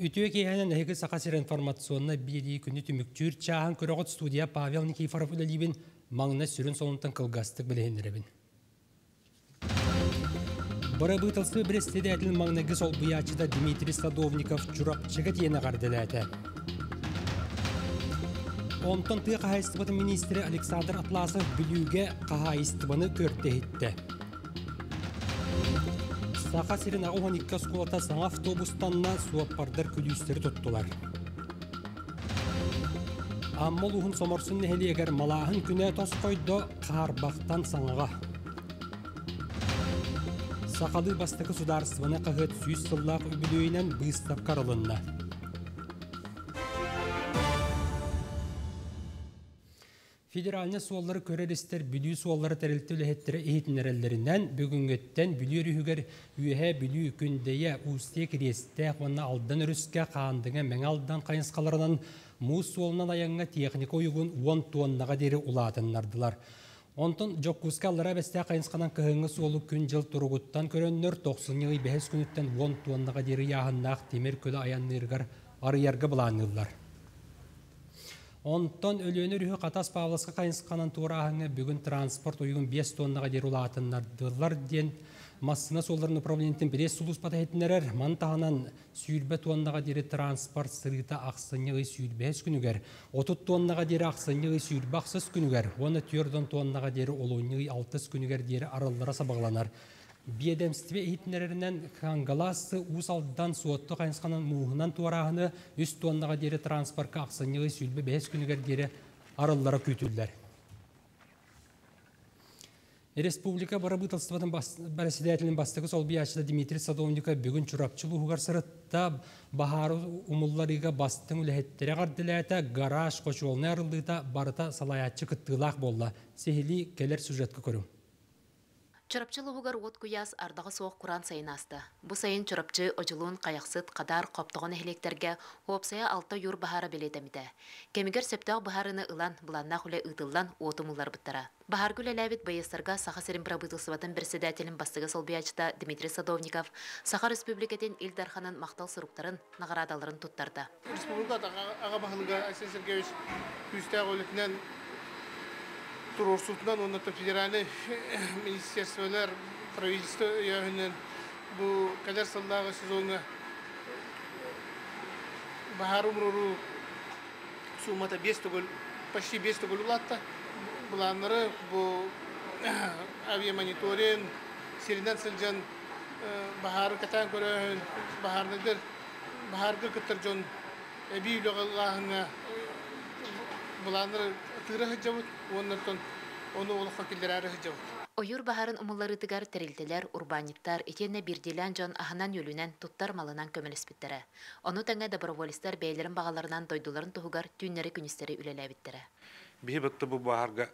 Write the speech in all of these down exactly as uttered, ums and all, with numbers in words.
Үтүө киэһэнэн, эһиги Саха сирэ информационнай биэрии күнү түмүктүүр чааһын көрөҕүт. Студияҕа Павел Никифоров үлэлиибин. Маҥнай сүрүн сонунтан кылгастык билиһиннэрэбин. Бырабыыталыстыба бэрэссэдээтэлин маҥнайгы солбуйааччыта Дмитрий Садовников Чурапчыга тиийэн эҕэрдэлээтэ. Онтон тыа хаһаайыстыбатын миниистирэ Александр Атласов Бүлүүгэ хаһаайыстыбаны көрдө-иһиттэ. Саха сирин аҕыс уон икки оскуолата саҥа автобустанна, суоппардар күлүүстэри туттулар. Амма улууһун Соморсун нэһилиэгэр малааһын күнэ тосхойдо, хаарбахтан саҥаҕа. Сахалыы бастакы судаарыстыбаннай хаһыат сүүс сыллаах үбүлүөйүнэн быыстапка арылынна. Федеральнай суоллары көрөр-истэр Бүлүү суоллара тэрилтэ үлэһиттэрэ иһитиннэрэллэринэн, бүгүҥҥүттэн Бүлүү өрүһүгэр Үөһээ Бүлүү, Күндэйэ, Устье Кириэстээх уонна Алдан өрүскэ Хаандыга, Мэҥэ Алдан хайысхаларынан муус суолунан айаҥҥа техника уйугун уон туоннаҕа диэри улаатыннардылар. Онтон Дьокуускай Аллараа Бэстээх хайысханан кыһыҥҥы суолу күн-дьыл туругуттан көрөннөр тохсунньу ый бэһис күнүттэн уон туоннаҕа диэри ыйааһыннаах тимир көлө айанныырыгар арыйарга былаанныыллар. Онтон Өлүөнэ өрүһү Хатас Павловска хайысханан туорааһыҥҥа бүгүн транспорт уйугун биэс туоннаҕа диэри улаатыннардылар диэн массыына суолларын управлениетын пресс-сулууспата иһитиннэрэр. Маны таһынан сүүрбэ туоннаҕа диэри транспорт сырыыта ахсынньы ый сүүрбэһис күнүгэр, отут туоннаҕа диэри ахсынньы ый сүүрбэ ахсыс күнүгэр уонна түөрт уон туоннаҕа диэри олунньу ый алтыс күнүгэр диэри арыллара сабаҕаланар. Биэдэмстибэ иһитиннэрэринэн Кангалассы Уус Алдан Суотту хайысханан мууһунан туорааһыны үс туоннаҕа диэри транспортка ахсынньы ый сүүрбэ бэһис күнүгэр диэри арыллара күүтүллэр. Республика бырабыыталыстыбатын бэрэссэдээтэлин бастакы солбуйааччыта Дмитрий Садовников бүгүн Чурапчы улууһугар сырытта, баһаары умулларыыга бастыҥ үлэһиттэри эҕэрдэлээтэ, гараж хочуолунай арыллыыта барыта салайааччы кыттыылаах буолла. Сиһилии кэлэр сюжетка көрүҥ. Чурапчы улууһугар уот куйаас, ардаҕа суох кураан сайын ааста. Бу сайын Чурапчы, Одьулуун, Хайахсыт, Хадаар, Хоптоҕо нэһилиэктэргэ уопсайа алта ойуур баһаара бэлиэтэммитэ. Кэмигэр сөптөөх быһаарыыны ылан, былааннаах үлэ ыытыллан, уоту умулларбыттара. Баһаарга үлэлээбит байыастарга Саха сирин бырабыыталыстыбатын бэрэссэдээтэлин бастакы солбуйааччыта Дмитрий Садовников Саха Республикатын Ил Дарханын махтал суруктарын, наҕараадаларын туттарда. Республика аҕа баһылыга Айсен Сергеевич күүстээх үлэтинэн, туруорсуутунан уонна федеральнай министерстволар, правительство өйөөнүнэн бу кэлэр сыллааҕы сезоҥҥа баһаары умуруоруу суумата биэс төгүл, почти биэс төгүл улаатта. Былааннары бу авиамониторинг, сиринэн сылдьан баһаары кэтээн көрөөһүн, баһаарныйдар баһаарга кыттар дьон эбии үлэҕэ ылааһыҥҥа былааннары тыыра сылдьабыт уонна ону олоххо киллэрээри сылдьабыт. Ойуур баһаарын умулларыытыгар тэрилтэлэр, урбаанньыттар итиэннэ биирдиилээн дьон аһынан-үөлүнэн, туттар малынан көмөлөспүттэрэ. Ону тэҥэ доброволецтар бэйэлэрин баҕаларынан дойдуларын туһугар түүннэри-күнүстэри үлэлээбиттэрэ. Биһи бытты бу баһаарга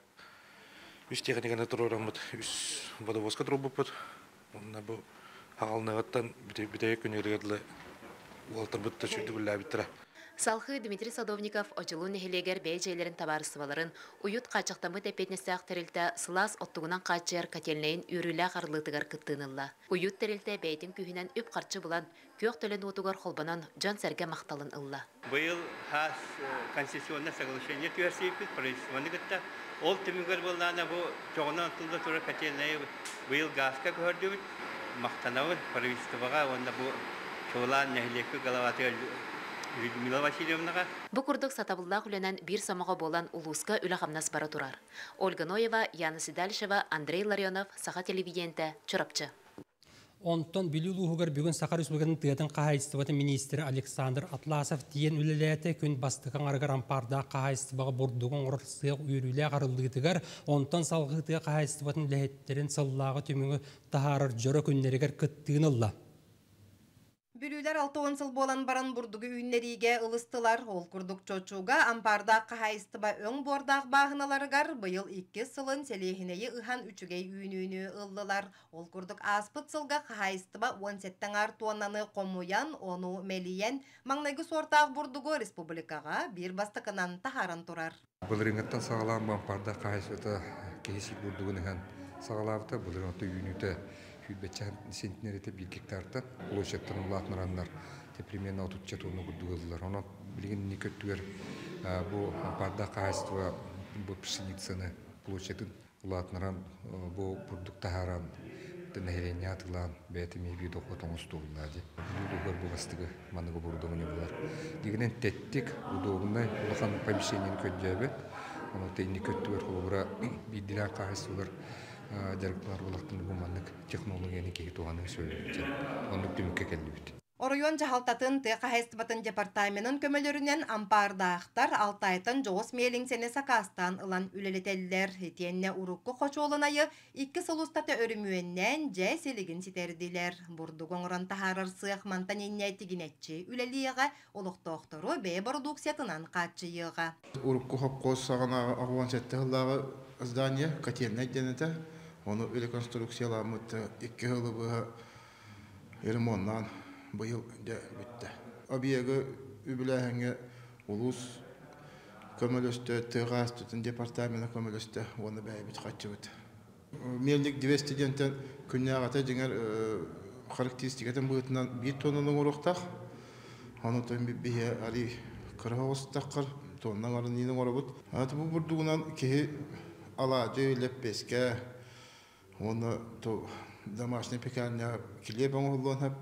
үс техниканы туруораммыт, үс водовозка туруорбуппут. Онно бу хаҕалныгыттан бүтэһик күнүгэр уолаттарбыт да үлэлээбиттэрэ. Салгыы Дмитрий Садовников Одьулуун нэһилиэгэр бэйэ дьиэлэрин табаарыстыбаларын Уют хааччахтаммыт эппиэтинэстээх тэрилтэ сылаас оттугунан хааччыйар котельнайын үөрүүлээх арыллыытыгар кыттыыны ылла. Уют тэрилтэ бэйэтин күүһүнэн үп-харчы булан, күөх төлөн уотугар холбонон дьон-сэргэ махталын ылла. Быйыл хас концессионное соглашение түһэрсибиппит правительствоны кытта. Ол түмүгэр буоллаҕына бу чоҕунан оттулла турар котельнайы быйыл газка көһөрдүбүт. Махтанабын правительствоҕа уонна бу чуолаан нэһилиэккэ главатыгар Людмила Васильевнаҕа. Бу курдук сатабыллаах үлэнэн биир сомоҕо буолан улууска үлэ-хамнас бара турар. Ольга Ноева, Яна Седалищева, Андрей Ларионов, Саха телевидениетэ, Чурапчы. Онтон Бүлүү улууһугар бүгүн Саха Республикатын тыатын хаһаайыстыбатын миниистирэ Александр Атласов тиийэн үлэлээтэ. Күн бастакы аҥарыгар Ампаардаах хаһаайыстыбаҕа бурдугу оҥорор сыах үөрүүлээх арыллыытыгар, онтон салгыы тыа хаһаайыстыбатын үлэһиттэрин сыллааҕы түмүгү таһаарар дьоро күннэригэр кыттыыны ылла. Бүлүүлэр алта уон сыл буолан баран бурдугу үүннэриигэ ылыстылар. Ол курдук Чочуга Ампаардаах хаһаайыстыба өҥ буордаах бааһыналарыгар быйыл иккис сылын сэлиэһинэйи ыһан үчүгэй үүнүүнү ыллылар. Ол курдук ааспыт сылга хаһаайыстыба уон сэттэ аҥаар туоннаны хомуйан, ону мэлийэн, маҥнайгы суортаах бурдугу республикаҕа биир бастакынан таһааран турар. Былырыыҥҥыттан саҕалаан бу Ампаардаах хаһаайыстыбата киһи сиир бурдугун ыһан саҕалаабыта. Былырыын оту үүнүүтэ Сүүрбэччэ центнер этэ биир гектартан площадьтан улаатыннараннар примерно отучча тонна курдук ыллылар. Онон билигин инники өттүгэр бу Ампаардаах хаһаайыстыба бу пшеницаны площадын улаатыннаран бу бурдук таһааран нэһилиэнньэ атыылаан бэйэтэ эмиэ биир дохуот оҥостуоллаа дии. Бүлүү бу бастыгы манныгы оборудование булар. Дигинэн тэттик, удобный, улахан помещениени көрдөөбөт. Ону инники өттүгэр холобура биирдилээн хаһаайыстыбалар дьарыктанар буоллахтарына бу маннык технологияны киһи туһаныы сөбүлүүр. Оннук түмүккэ кэллибит. Оройуон дьаһалтатын тыа хаһаайыстыбатын департаменын көмөлөрүнэн ампаардаахтар Алтайтан дьоҕус миэлиҥсэни сакаастаан ылан үлэлэтэллэр. Итиэннэ урукку хочуолунайы икки сыл устата өрөмүөннээн дьэ силигин ситэрдилэр. Бурдук оҥорон таһаарар сыах мантан инньэ тигинэччи үлэлиэҕэ, олохтоохтору бэйэ бородууксуйатынан хааччыйыаҕа. Урукку хопкуос саҕанааҕы аҕыс уон сэттэ сыллааҕы здание котельнай диэн этэ. Ону реконструкцияламмыт икки сылы быһа ремоннаан быйыл дьэ бүттэ. Объегы үбүлээһиҥҥэ улуус көмөлөстө, тыа хаһаайыстыбатын департамена көмөлөстө уонна бэйэбит хаччыбыт. Мельник двести диэнтэн күннээҕитэ дьиҥэр характеристикатын быһыытынан биир тоннаны оҥоруохтаах. Ону биһи арый кыра оҕустаххар тонна оҥорон оҥоробут. Аты бу бурдугунан киһи алаадьы, лэппиэскэ уонна домашний пекарня килиэп оҥоһуллуон сөп.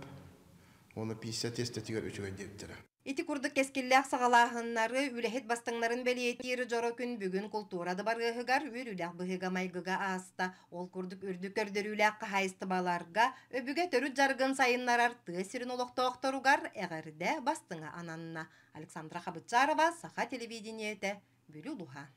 Оны пицца тестетигэр үчүгэй диэбиттэрэ. Ити курдук кэскиллээх саҕалааһыннары үлэһит бастыҥнарын бэлиэтиир дьоро күн бүгүн култуура дыбарыаһыгар үөрүүлээх быһыыга майгыга ааста. Ол курдук үрдүк көрдөрүүлээх хаһаайыстыбаларга өбүгэ төрүт жаргын сайыннарар тыа сирин олохтоохторугар эҕэрдэ бастыҥа ананна. Александра Хабытчарова, Саха телевидениете, Бүлүү улууһа.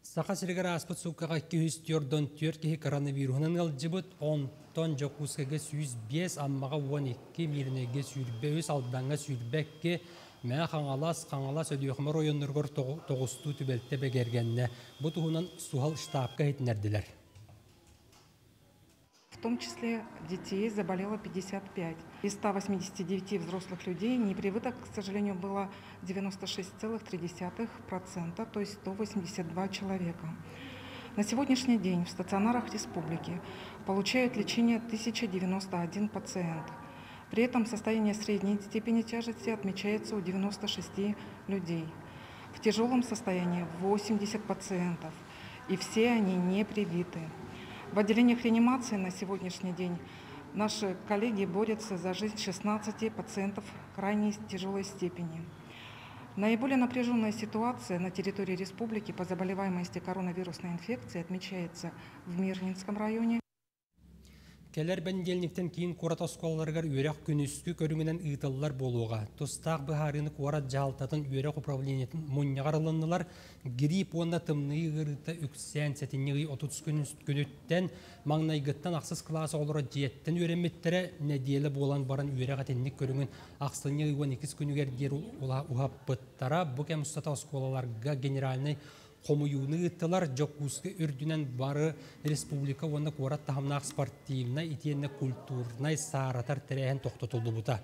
Саха сиригэр ааспыт сууккаҕа икки сүүс түөрт уон түөрт киһи коронавируһунан ыалдьыбыт, онтон Дьокуускайга сүүс биэс, Аммаҕа уон икки, Мииринэйгэ сүүрбэ үс, Алдаҥҥа сүүрбэ икки, Мэҥэ Хаҥалас, Хаҥалас, Өлүөхүмэ оройуоннарыгар тоҕустуу түбэлтэ бигэргэннэ. Бу туһунан суһал штабка иһитиннэрдилэр. В том числе детей заболело пятьдесят пять. Из ста восьмидесяти девяти взрослых людей непривитых, к сожалению, было девяносто шесть целых три десятых процента, то есть сто восемьдесят два человека. На сегодняшний день в стационарах республики получают лечение тысяча девяносто один пациент. При этом состояние средней степени тяжести отмечается у девяноста шести людей. В тяжелом состоянии восемьдесят пациентов, и все они не привиты. В отделениях реанимации на сегодняшний день наши коллеги борются за жизнь шестнадцати пациентов крайне тяжелой степени. Наиболее напряженная ситуация на территории республики по заболеваемости коронавирусной инфекцией отмечается в Мирнинском районе. Кэлэр бэнидиэнньиктэн киин куорат оскуолаларыгар үөрэх күнүскү көрүҥүнэн ыытыллар буолуоҕа. Тустаах быһаарыыны куорат дьаһалтатын үөрэх управлениетын мунньаҕар ылыннылар. Грипп уонна тымныы ыарыыта үксээн сэтинньи ый отут күнүттэн маҥнайгыттан ахсыс кылаас оҕолоро дьиэттэн үөрэммиттэрэ нэдиэлэ буолан баран үөрэх итинник көрүҥүн ахсынньы ый уон иккис күнүгэр диэри уһаппыттара. Бу кэм устата оскуолаларга генеральнай хомуйууну ыыттылар. Дьокуускай үрдүнэн бары республика уонна куорат таһымнаах спортивнай итиэннэ культурнай сааратар тэрээһин тохтотуллубута.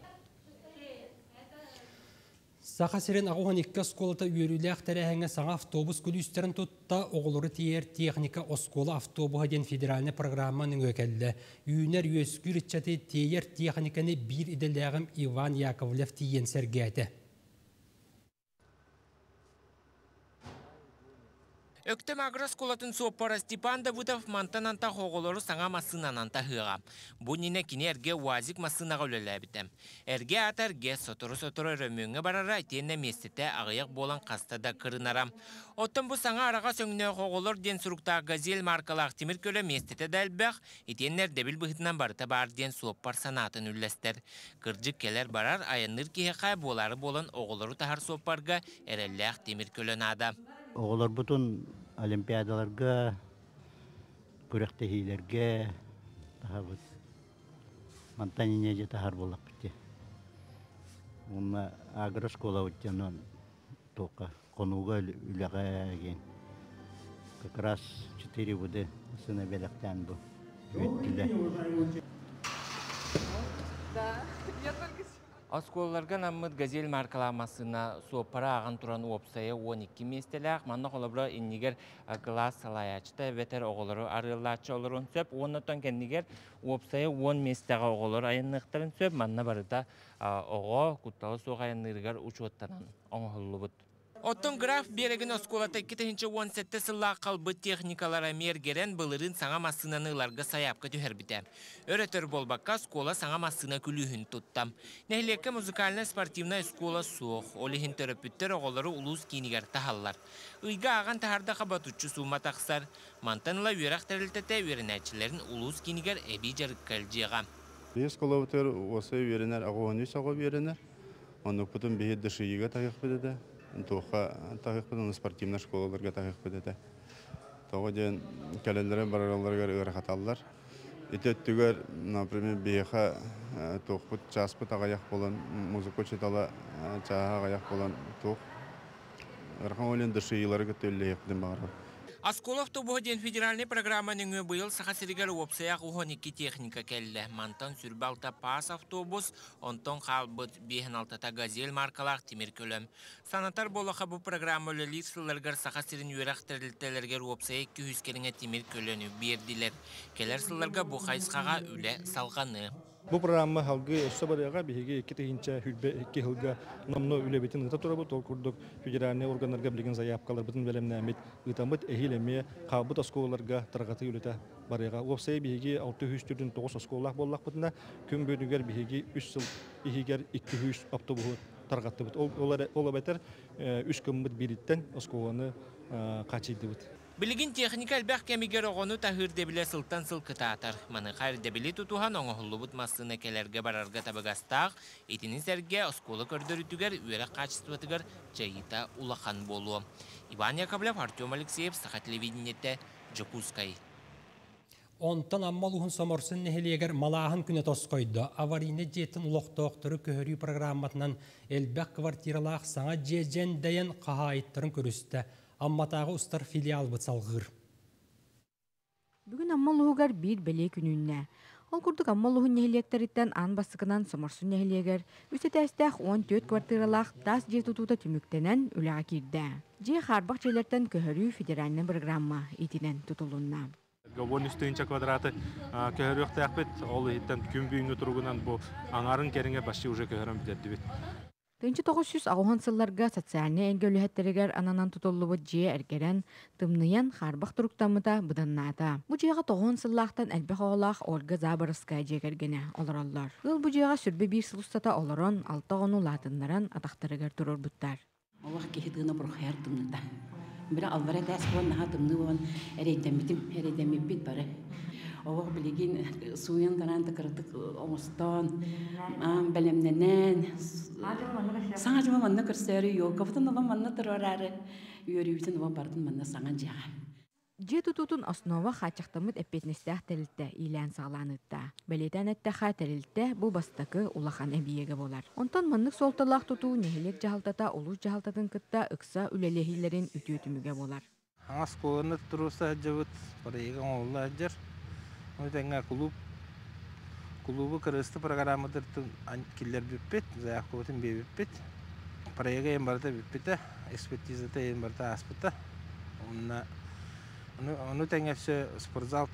Саха сирин аҕыс уон икки оскуолата үөрүүлээх тэрээһиҥҥэ саҥа автобус күлүүстэрин тутта. Оҕолору тиэйэр техника «Оскуола автобуһа» диэн федеральнай программа нөҥүө кэллэ. Үүнэр үөскүүр ыччаты тиэйэр техниканы биир идэлээҕим Иван Яковлев тиийэн сэргээтэ. Өктөм агрооскуолатын суоппара Степан Давыдов мантан антах оҕолору саҥа массыынанан таһыаҕа. Бу иннинэ кини эргэ УАЗик массыынаҕа үлэлээбитэ. Эргэ аата эргэ, сотору-сотору өрөмүөҥҥэ барара итиэннэ миэстэтэ аҕыйах буолан хаста да кырынара. Оттон бу саҥа араҕас өҥнөөх «Оҕолор» диэн суруктаах «Газель» маркалаах тимир көлө миэстэтэ да элбэх, итиэннэ ирдэбил быһыытынан барыта баар диэн суоппар санаатын үллэстэр. Кырдьык, кэлэр барар айанныыр киһиэхэ, буолаары буолан оҕолору таһар суоппарга эрэллээх тимир көлө наада. Оҕолорбутун олимпиадаларга, күрэхтэһиилэргэ таһабыт. Мантан инньэ таһар буоллахпыт. Уонна агрошкола дьонон тока хонууга үлэҕэ диэн. Как раз четыре года сына бэлэхтээн бу үөттүлэр. Оскуолаларга анаммыт «Газель» маркалаах массыына суоппара ааҕан туран уопсайа уон икки миэстэлээх. Манна холобура иннигэр кылаас салайааччыта эбэтэр оҕолору арыаллааччы олоруон сөп. Уоннаттан кэннигэр уопсайа уон миэстэҕэ оҕолор айанныахтарын сөп. Манна барыта оҕо куттала суох айанныырыгар учуоттанан оҥоһуллубут. Оттон Граф Биэрэгин оскуолата икки тыһыынча уон сэттэ сыллаах халбыт техникалара мергерен былырын саҥа массыынаны ыларга сайаапка түһэрбитэ. Өр-өтөр буолбакка оскуола саҥа массыына күлүүһүн тутта. Нэһилиэккэ музыкальнай-спортивнай оскуола суох. Ол иһин төрөппүттэр оҕолору улуус киинигэр таһаллар. Ыйга ааҕан таһаардаха ботуччу суума тахсар. Мантан ыла үөрэх тэрилтэтэ үөрэнээччилэрин улуус киинигэр эбии дьарыкка илдьиэҕэ. Биһиги оскуолабытыгар уосай үөрэнэр, аҕыс уон үс оҕо үөрэнэр. Оннукпутун биһиги ДШИ-га таһыахпыт этэ. Туохха таһыахпыт, оны спортивнай школаларга таһыахпыт этэ. Тоҕо диэн кэлэллэрэ бараралларыгар ыарахаталлар. Ити өттүгэр, например, биһиэхэ туохпут чааспыт аҕыйах буолан, музыка учуутала чааһа аҕыйах буолан туох ыарахан олен ДШИ-лары кытта үлэлэһиэхпитин баҕарабыт. Оскуола автобуһа диэн федеральнай программа нөҥүө быйыл Саха сиригэр уопсайа уон икки техника кэллэ. Мантан сүүрбэ алта паас автобус, онтон хаалбыт биэс уон алтата «Газель» маркалаах тимир көлө. Санатар буоллахха, бу программа үлэлиир сылларыгар Саха сирин үөрэх тэрилтэлэригэр уопсайа икки сүүс кэриҥэ тимир көлөнү биэрдилэр. Кэлэр сылларга бу хайысхаҕа үлэ салҕаныа. Бу программа халгыы өссө барыаҕа, биһиги икки тыһыынча сүүрбэ икки сылга номнуо үлэбитин ыыта турабыт, ол курдук федеральнай органнарга билигин заявкаларбытын бэлэмнээммит ыытаммыт, эһиил эмиэ хаалбыт оскуолаларга тарҕатыы үлэтэ барыаҕа. Уопсайа биһиги алта сүүс төрдүн тоҕус оскуолалаах буоллахпытына, күн бүгүнүгэр биһиги үс сыл иһигэр икки сүүс автобуһу тарҕаттыбыт. Ол эбэтэр үс гыммыт биириттэн оскуоланы хаачыйдыбыт. Билигин техника элбэх кэмигэр оҕону таһыыр ирдэбилэ сылтан сыл кытаатар. Маныаха ирдэбили тутуһан оҥоһуллубут массыына кэлэргэ барарга табыгастаах, итини сэргэ оскуола көрдөрүүтүгэр үөрэх хаачыстыбатыгар дьайыыта улахан буолуо. Иван Яковлев, Артем Алексеев, Саха телевидениетэ, Дьокуускай. Онтон Амма улууһун Соморсун нэһилиэгэр малааһын күнэ тосхойдо. Аварийный дьиэттэн олохтоохтору көһөрүү программатынан элбэх квартиралаах саҥа дьиэ дьэндэйэн хаһаайыттарын көрүстэ. Амматааҕы устар филиалбыт салҕыыр. Бүгүн Амма улууһугар биир бэлиэ күн үүннэ. Ол курдук Амма улууһун нэһилиэктэриттэн аан бастакынан Соморсун нэһилиэгэр үс этээстээх уон түөрт квартиралаах таас дьиэ тутуута түмүктэнэн үлэҕэ киирдэ. Дьиэ хаарбах дьиэлэртэн көһөрүү федеральнай программа иитинэн тутулунна. Уон үс тыһыынча квадраты көһөрүөхтээхпит, ол иһиттэн күн бүгүҥҥү туругунан бу аҥарын кэриҥэ почти уже көһөрөн бүтэрдибит. Тыһыынча тоҕус сүүс аҕыс уон сылларга социальнай эйгэ үлэһиттэригэр ананан тутуллубут дьиэ эргэрэн, тымныйан хаарбах туруктаммыта быданнаата. Бу дьиэҕэ тоҕус уон сыллаахтан элбэх оҕолоох Ольга Заборовская дьиэ кэргэнэ олороллор. Ыал бу дьиэҕэ сүүрбэ биир сыл устата олорон, алта оҕону улаатыннаран атахтарыгар турорбуттар. Олох киһи тыына бурхайар тымныта. Бира алвара тәс буон наха тымны буон эрейдеммитим, эрейдеммиппит бары. Олох билигин сууян тараан тыкырытык оҥостон, аан бэлэмнэнэн, саҥа дьыма манна көрсөөрү, ёлкабытын олом манна туруораары, үөрүүбүтүн олом бардын манна саҥа дьиэҕэ. Дьиэ тутуутун основа хааччахтаммыт эппиэтинэстээх тэрилтэ иилээн саҕалааныытта. Бэлиэтээн эттэхэ, тэрилтэ бу бастакы улахан эбийиэгэ буолар. Онтон маннык суолталаах тутуу нэһилиэк дьаһалтата улуус дьаһалтатын кытта ыкса үлэлэһиилэрин үтүө түмүгэ буолар. Аңас куоны туруса дьыбыт, барыйыга оҥоһулла сылдьар. Ону тэҥэ клуб, клубу кырыысты программатыттан киллэрбиппит, заявкабытын биэрбиппит. Проекта ең барыта бүппүтэ, экспертизата ең барыта ааспыта. Онно ону тэҥэ все спортзал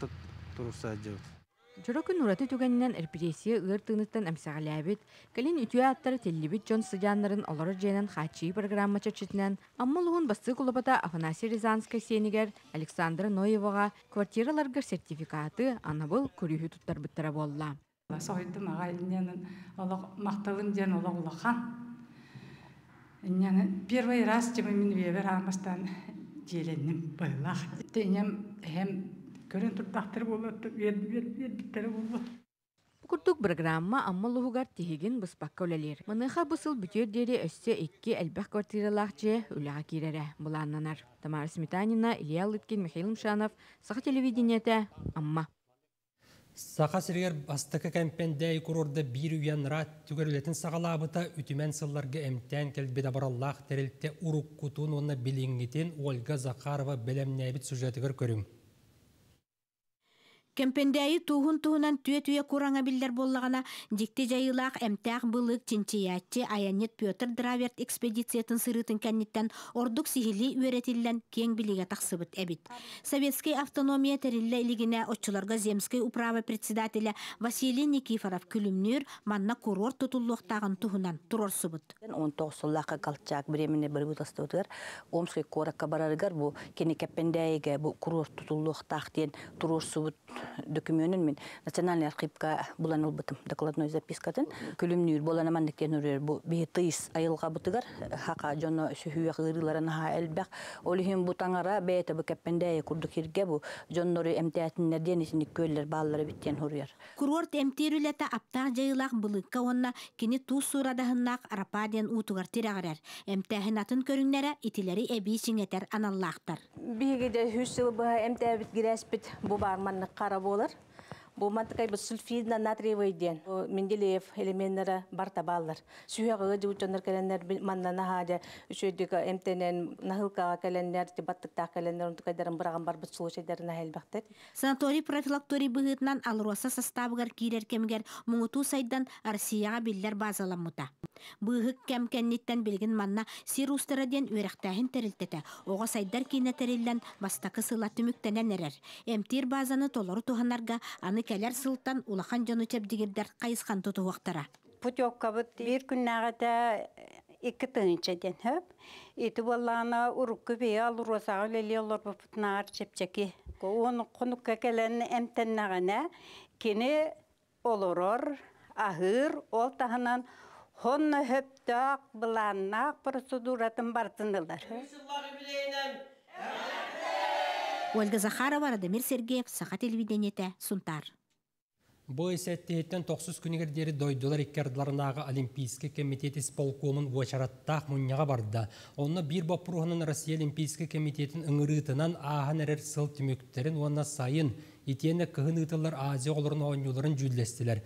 туруса сылдьыбыт. Дьоро күн ураты түгэнинэн репрессия ыар тыыныттан эмсэҕэлээбит, кэлин үтүө ааттара тиллибит дьон сыдьааннарын олорор дьиэнэн хааччыйыы программа чэрчитинэн Амма улууһун бастыҥ кулубата Афанасий Рязанскай сиэнигэр Александра Ноеваҕа квартираларгар сертификаты анабыл күлүүһү туттарбыттара буолла. Соһуйдум аҕай, инньэнэн олох махталым диэн олох улахан. Инньэнэн первый раз тема мин үйэбэр аамастан дьиэлэнним быһыылаах. Инньэм эһэм көрөн турдахтар буолуо, үөрбүттэрэ буолуо. Бу курдук программа Амма улууһугар тиһигин быспакка үлэлиир. Маныаха бу сыл бүтүөр диэри өссө икки элбэх квартиралаах дьиэ үлэҕэ киирэрэ былааннанар. Тамара Сметанина, Илья Лыткин, Михаил Мшанов, Саха телевидениетэ, Амма. Саха сиригэр бастакы Кэмпэндээйи курорда биир үйэ анараа өттүгэр үлэтин саҕалаабыта, үтүмэн сылларга эмтээн кэлбит абыраллаах тэрилтэ уруккутун уонна билиҥҥитин Ольга Захарова бэлэмнээбит сюжетыгар көрүҥ. Кэмпэндээйи тууһун туһунан түө-түө кураҥа биллэр буоллаҕына, дьикти дьайыылаах эмтээх былыык чинчийээччи айанньыт Петр Драверт экспедициятын сырыытын кэнниттэн ордук сиһилии үөрэтиллэн киэҥ билиигэ тахсыбыт эбит. Советскай автономия тэриллэ илигинэ оччолорго Земскэй управа председателэ Василий Никифоров Күлүмнүүр манна курорт тутуллуохтааҕын туһунан туруорсубут. Он тоҕус сыллаахха Колчак временный правительствотыгар Омскай куоракка барарыгар бу кини Кэппэндээйигэ бу курорт тутуллуохтаах диэн туруорсубут документын мин Национальный архивка булан ылбытым, докладной запискатын. Күлүмнүүр буолан маннык диэн үрэр бу биһи тыйыс айылҕабытыгар хака дьоно сүһүөх ыарыыларын аһаа элбэх. Ол иһин бу таҥара бэйэтэ бу Кэппэндээйи курдук сиргэ бу дьоннору эмтээтиннэр диэн итинник күөллэр бааллара эбит диэн суруйар. Курорт эмтиир үлэтэ аптаах дьайыылаах былыыкка уонна кини туус суурадаһыннаах Арапаа диэн уутугар тирэҕирэр. Эмтээһин атын көрүҥнэрэ итилэри эбии чиҥэтэр аналлаахтар. Биһиги дьэ үс сыл быһа эмтээбит гирээспит бу баар маннык хара буолар. Бу мантыкай бу сульфидно натриевый диэн. Бу Менделеев элеменнара барта бааллар. Сүһэҕэ дьоннор кэлэннэр манна наһаа дьэ үчүгэйдик эмтэнэн наһылкаҕа кэлэннэр, баттыктаах кэлэннэр онтукайдарын быраҕан барбыт случайдарын элбэхтэр. Санаторий профилакторий быһыытынан АЛРОСА састаабыгар киирэр кэмигэр муҥутуу сайдан Россияҕа биллэр базаламмыта. Быыһык кэм кэнниттэн билигин манна Сир уустара диэн үөрэхтээһин тэрилтэтэ оҕо сайдар киинэ тэриллэн бастакы сыла түмүктэнэн эрэр. Эмтиир базаны толору туһанарга аны кэлэр сылтан улахан дьону чэбдигирдэр хайысхан тутуһуохтара. Путевкабыт биир күннээҕитэ икки тыһыынча диэн сөп. Ити буоллаҕына урукку биһи АЛРОСАҕа үлэлии олорбуппутунааҕар чэпчэки. Уон хонукка кэлэн эмтэннэҕинэ кини олорор, аһыыр, ол таһынан хонно хөптөөх былааннаах процедуратын барытын ылар. Ольга Захарова, Радомир Сергеев, Саха телевидениетэ, Сунтаар. Бу сэттиһиттэн тохсус күнүгэр диэри дойдулар икки ардыларынааҕы Олимпийскай комитет исполкомун уочараттаах мунньаҕа барда. Онно биир боппуруоһунан Россия Олимпийскай комитетин ыҥырыытынан ааһан эрэр сыл түмүктэрин уонна сайын итиэннэ кыһын ыытыллар Азия оҕолорун оонньууларын дьүүллэстилэр.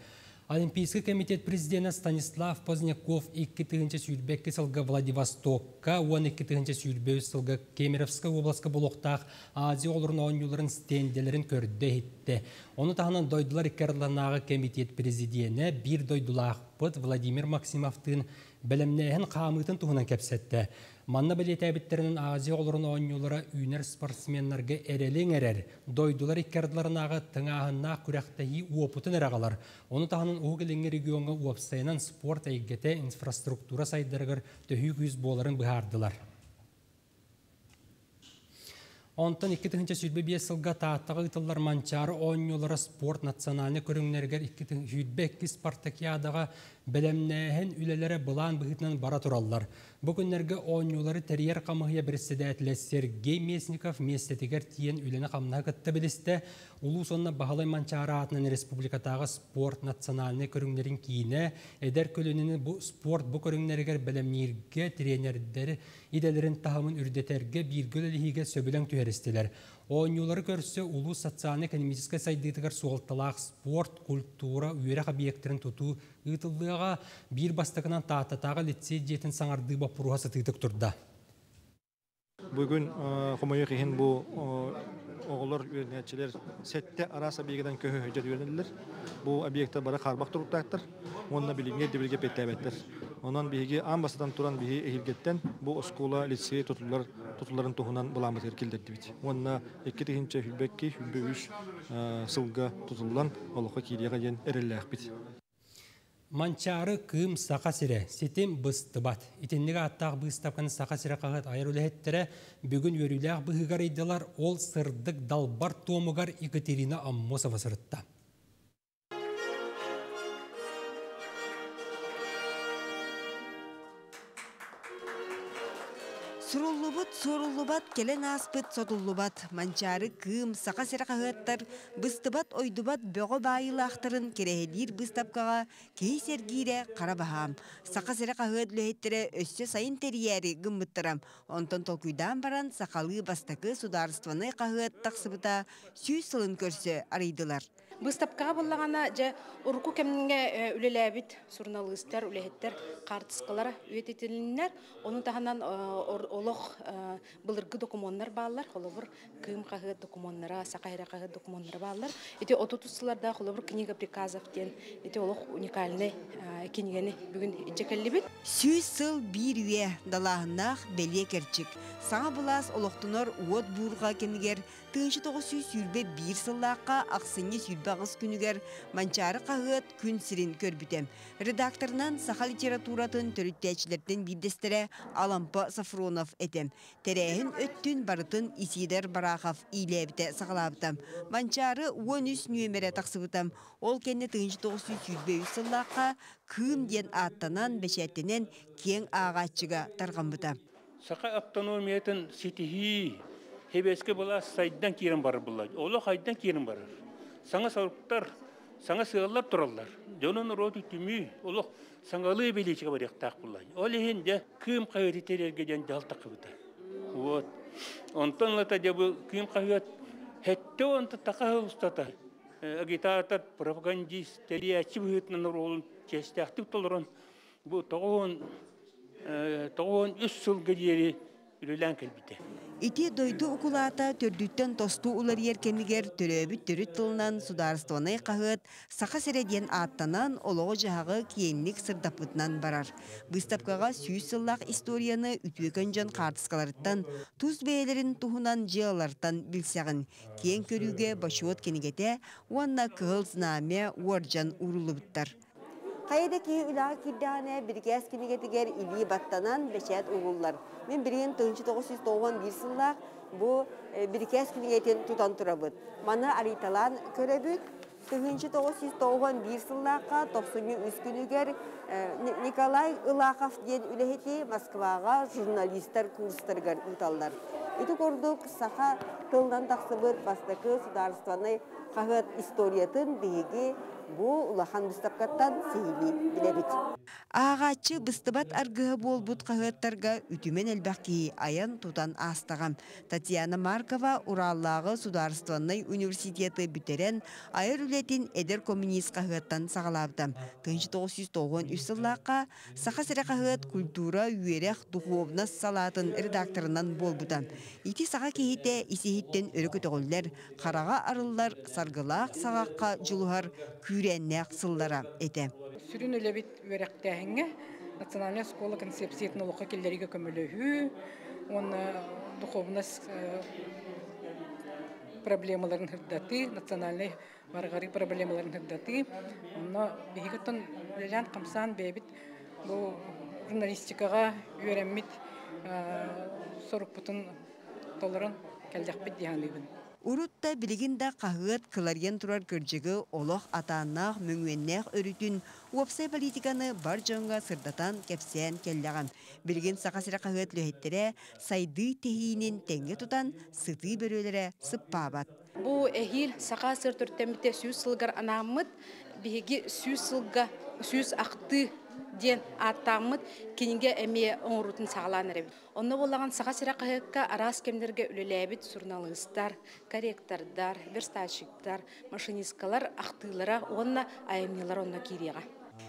Олимпийский комитет президента Станислав Поздняков икки тыһыынча сүүрбэ икки сылга Владивостокка, он икки тыһыынча сүүрбэ үс сылга Кемеровскай областка буолуохтаах Азия оҕолорун оонньууларын стенделерин көрдө иһиттэ. Ону таһынан дойдулар икки ардыларынааҕы комитет президенэ биир дойдулаахпыт Владимир Максимовтыын бэлэмнээһин хаамыытын туһунан кэпсэттэ. Манна бэлиэтээбиттэринэн Азия оҕолорун оонньуулара үүнэр спортсменнарга эрэли иҥэрэр, дойдулар икки ардыларынааҕы тыҥааһыннаах күрэхтэһии уопутун эрэ аҕалар. Ону таһынан Уһук Илиҥҥи региоҥҥа уопсайынан спорт эйгэтэ инфраструктура сайдарыгар төһүү күүс буоларын быһаардылар. Онтон икки тыһыынча сүүрбэ биэс сылга Тааттаҕа ыытыллар Манчаары оонньуулара спорт национальнай көрүҥнэригэр икки сүүрбэ икки спартакиадаҕа бэлэмнээһин үлэлэрэ былаан быһыытынан бара тураллар. Бу күннэргэ оонньуулары тэрийэр хамыыһыйа председателэ Сергей Местников миэстэтигэр тиийэн үлэни-хамнаһы кытта билистэ. Улуус уонна Баһылай Манчаары аатынан республикатааҕы спорт национальнай көрүҥнэрин киинэ эдэр көлүөнэни бу спорт бу көрүҥнэригэр бэлэмнииргэ, тренердэри идэлэрин таһымын үрдэтэргэ бииргэ үлэлэһиигэ сөбүлэҥ түһэристилэр. Оонньуулары көрсө улуус социальнай-экономическай сайдыытыгар суолталаах спорт, культура, үөрэх объектарын тутуу ыытыллыаҕа. Биир бастакынан Тааттатааҕы лицей дьиэтин саҥардыы боппуруоһа сытыытык турда. Бүгүн хомойуох иһин бу оҕолор үөрэнээччилэр сэттэ араас объектан көһө сылдьар үөрэнэллэр. Бу объектар бары хаарбах туруктаахтар уонна билиҥҥи ирдэбилгэ эппиэттээбэттэр. Онон биһиги аан бастатан туран биһи эһиилгэттэн бу оскуола лицей тутуллар тутулларын туһунан былааммытыгар киллэрдибит. Уонна икки тыһыынча сүүрбэ икки сүүрбэ үс сылга тутуллан олоххо киириэҕэ диэн эрэллээхпит. Манчаары Кыым Саха сирэ ситим быстыбат. Итинник ааттаах быыстапканы Саха сирэ хаһыат айар үлэһиттэрэ бүгүн үөрүүлээх быһыыгар ыйдылар. Ол сырдык далбар туомугар Екатерина Аммосова сырытта. Суруллубут, суоруллубат, кэлэн ааспыт сотуллубат. Манчаары Кыым, Саха сирэ хаһыаттар быстыбат, ойдубат бөҕө баайыылаахтарын кэрэһэлиир быыстапкаҕа киһи сэргиирэ хара баһаам. Саха сирэ хаһыат үлэһиттэрэ өссө сайын тэрийээри гыммыттара. Онтон толкуйдаан баран сахалыы бастакы судаарыстыбаннай хаһыат тахсыбыта сүүс сылын көрсө арыйдылар. Быыстапкаҕа буоллаҕына дьэ урукку кэмҥэ үлэлээбит суруналыыстар, үлэһиттэр хаартыскалара үйэтитилиннэр. Ону таһынан Олох былыргы документар бааллар, холобур Кыым хаһыат документара, Саха сирэ хаһыат документара бааллар. Ити отут сылларда холобур книга приказов диэн ити олох уникальный кинигени бүгүн илдьэ. Сүүс сыл биир үйэ далааһыннаах бэлиэ кэрчик. Саҥа былаас олохтонор уот буурҕа кэмигэр тыһыынча тоҕус сүүс сүүрбэ биир сыллаахха ахсынньы сүүрбэ аҕыс күнүгэр Манчаары хаһыат күн сирин көрбүтэ. Редакторынан саха литературатын төрүттээччилэртэн биирдэстэрэ Алампа Софронов этэ. Тэрээһин өттүн барытын Исидор Барахов иилээбитэ саҕалаабыта. Манчаары уон үс нүөмэрэ тахсыбыта. Ол кэннэ тыһыынча тоҕус сүүс сүүрбэ үс сыллаахха Кыым диэн ааттанан, бэчээттэнэн киэҥ ааҕааччыга тарҕаммыта. Саха автономиятын ситиһии Хебеске была сайдан киирэн барар булла. Олох айдан киирэн барар. Саҥа соруктар, саҥа сыаллар тураллар. Дьонун рооту түмүү, олох саҥалыы билиичигэ барыахтаах булла. Ол иһин дьэ Кыым хаһыаты тэрийэргэ диэн дьаһал тахсыбыта. Вот. Онтон ылата дьэ бу Кыым хаһыат сэттэ уон таха устата агитатор, пропагандист, тэрийээччи быһыытынан оруолун чиэстээхтик толорон бу тоҕус уон үс сылга диэри үлэлээн кэлбитэ. Ити дойду укулаата төрдүттэн тосту уларыйар кэмигэр төрөөбүт төрүт тылынан судаарыстыбаннай хаһыат Саха сирэ диэн ааттанан олоҕу-дьаһаҕы киэҥник сырдаппытынан барар. Быыстапкаҕа сүүс сыллаах историяны үтүөкэн дьон хаартыскаларыттан, тус бэйэлэрин туһунан дьыалалартан билсэҕин. Киэҥ көрүүгэ бочуот кинигэтэ уонна кыһыл знамя уордьан ууруллубуттар. Хайда киһи үлэҕэ киирдэҕинэ бирикээс кинигэтигэр илии баттанан бэчээт угуллар. Мин билигин тыһыынча тоҕус сүүс тоҕус биир сыллаах бу бирикээс кинигэтин тутан турабыт. Маны арыйталаан көрөбүт. Тыһыынча тоҕус сүүс тоҕус биир сыллаахха тохсунньу үс күнүгэр Николай Ылахов диэн үлэһити Москваҕа журналистар курстарыгар ыыталлар. Ити курдук саха тылынан тахсыбыт бастакы судаарыстыбаннай хаһыат историятын биһиги бу улахан быыстапкаттан сиһилии билэбит. Ааҕааччы быстыбат аргыһа буолбут хаһыаттарга үтүмэн элбэх киһи айан тутан аастаҕа. Татьяна Маркова Ураллааҕы судаарыстыбаннай университеты бүтэрэн айар үлэтин эдэр коммунист хаһыаттан саҕалаабыта. Тыһыынча тоҕус сүүс тоҕус үс сыллаахха Саха сирэ хаһыат культура, үөрэх, духовность салаатын редакторынан буолбута. Ити саха киһитэ исиһиттэн өрө көтөҕүллэр, хараҕа арыллар, саргылаах саҕахха дьулуһар күүрээннээх сыллара этэ. Сүрүн үлэбит үөрэхтээһиҥҥэ национальная школа концепциятын олоххо киллэриигэ көмөлөһүү уонна духовность проблемаларын сырдатыы, национальнай барҕарыы проблемаларын сырдатыы. Онно биһиги үлэлээн хамсаан бэйэбит бу журналистикаҕа үөрэммит сорукпутун толорон кэллэхпит дии саныыбын. Урут да билигин да хаһыат кыларыйан турар кырдьыгы олох атааннаах мөҥүөннээх өрүтүн уопсай политиканы бар дьоҥҥо сырдатан кэпсээн кэллэҕэ. Билигин Саха сирэ хаһыат үлэһиттэрэ сайдыы тэһиинин тэҥҥэ тутан сытыы бөрүөлэрэ сыппаабат. Бу эһиил Саха сир төрүттэммитэ сүүс сылыгар анааммыт, биһиги сүүс сылга сүүс ахтыы диэн ааттааммыт кинигэ эмиэ оҥоруутун саҕалаан эрэбит. Онно буоллаҕын Саха сирэ хаһыакка араас кэмнэргэ үлэлээбит суруналыыстар, корректордар, верстальщиктар, машинисткалар ахтыылара уонна айымньылар онно киириэҕэ.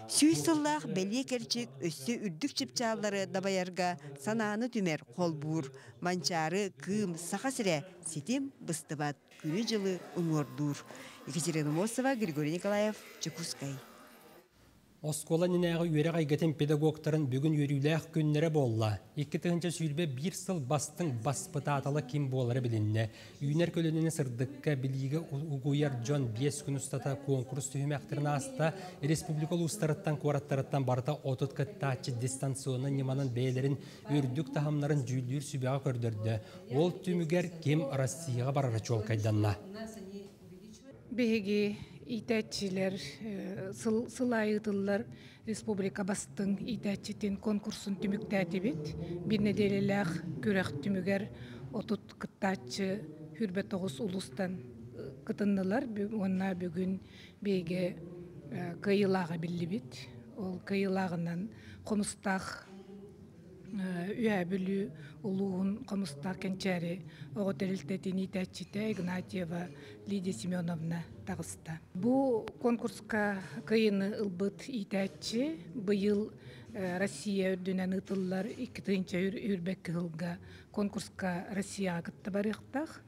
Сүүс сыллаах бэлиэ кэрчик өссө үрдүк чыпчааллары дабайарга санааны түмэр холбуур. Манчаары, Кыым, Саха сирэ ситим быстыбат күнү дьылы уҥуордуур. Екатерина Мосова, Григорий Николаев, Чекускай. Оскуола иннинээҕи үөрэх эйгэтин педагогтарын бүгүн үөрүүлээх күннэрэ буолла. Икки тыһыынча сүүрбэ биир сыл бастыҥ баспытаатала ким буолара билиннэ. Үүнэр көлүөнэни сырдыкка билиигэ угуйар дьон биэс күн устата конкурс түһүмэхтэрин ааста. Республика улуустарыттан, куораттарыттан барыта отут кыттааччы дистанционнай ньыманан бэйэлэрин үрдүк таһымнарын дьүүллүүр сүбэҕэ көрдөрдө. Ол түмүгэр ким Россияҕа барара чуолкайданна. Биһиги иитээччилэр сыл аайы республика бастыҥ иитээччитин конкурсун түмүктээтибит. Биир нэдиэлэлээх күрэх түмүгэр отут кыттааччы сүүрбэ тоҕус улуустан кытыннылар. Уонна бүгүн биһиги кыайыылааҕа биллибит. Ол кыайыылааҕынан Хомустаах Үөһээ Бүлүү улууһун Хомустаах Кэнчээри оҕо тэрилтэтин иитээччитэ Игнатьева Лидия Семеновна таҕыста. Бу конкурска кыайыыны ылбыт иитээччи быйыл Россия үрдүнэн ыытыллар икки тыһыынча үрбэкки сылга конкурска Россияҕа кытта барыахтаах.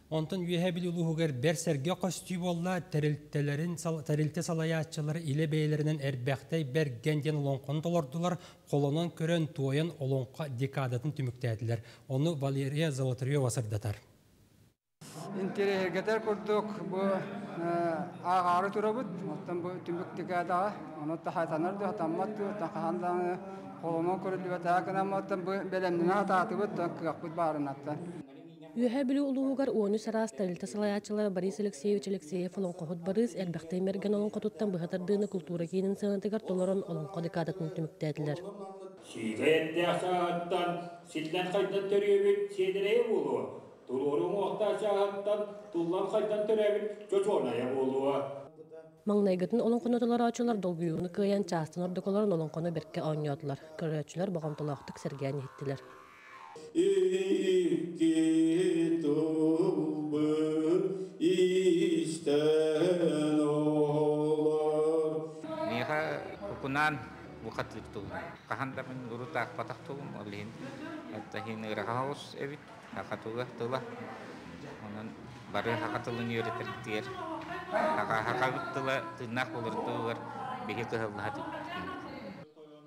Онтон Үөһээ Бүлүү улууһугар бэр сэргэ көстүү буолла, тэрилтэлэрин тэрилтэ салайааччылары илэ бэйэлэринэн Эрбэхтэй Бэргэн диэн олоҥхону толордулар, холонон көрөн туойан олоҥхо декадатын түмүктээтилэр. Ону Валерия Золотарева сырдатар. Интэриэһиргэтэр курдук бу ааҕаары турабыт, оттон бу түмүк декадаҕа, ону хатанар да хатаммат дуу, хаһан даҕаны холонон көрүллүбэтэх гынаммыттан бу бэлэмнэнэ хатаатыбыт, кыахпыт баарынаттан. Үөһээ Бүлүү улууһугар уон үс араас тэрилтэ салайааччылара Борис Алексеевич Алексеев олоҥхоһут Барыыс Эрбэхтэй Мэргэн олоҥхотуттан быһа тардыыны култуура киинин сыанатыгар толорон олоҥхо декадатын түмүктээтилэр. Сиикэй эттээх чааһыттан силлэн хайдан төрүөбүт сиэдэрэйэ буолуо, туруору уҥуохтаах чааһыттан туллан хайдан төрөөбүт чочуонайа буолуо. Маҥнайгытын олоҥхону толорооччулар долгуйууну кыайан чаастан ордук олорон олоҥхону бэркэ оонньоотулар. Көрөөччүлэр боҕомтолоохтук сэргээн иһиттилэр. Икки тылбы истэн олор. Миэхэ укунаан бухатыыр тылым. Хаһан да мин урутаах батах тылым, ол иһин эттахин ыраха оҕус эбит, хаха тыла тыла. Онон бары хаха тылын үөрэтэр хаха хахабыт тыла тыыннаах болор тылыгар биһи кыһаллаһа.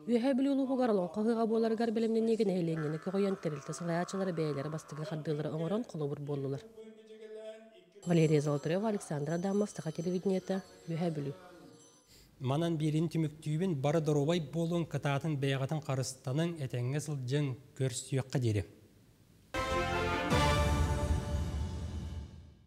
Үөһээ Бүлүү улууһугар олоҥхо ыһыаҕа буоларыгар бэлэмнэниигэ нэһилиэнньэни көҕүйэн тэрилтэ салайааччылара бэйэлэрэ бастакы хардыылары оҥорон холобур буоллулар. Валерия Золотарева, Александр Адамов, Саха телевидениета, Үөһээ Бүлүү. Манан биэрин түмүктүүбүн, бары доруобай буолуҥ, кытаатын бэйэҕитин харыстаныҥ, этэҥҥэ сылдьыҥ, көрсүөххэ диэри.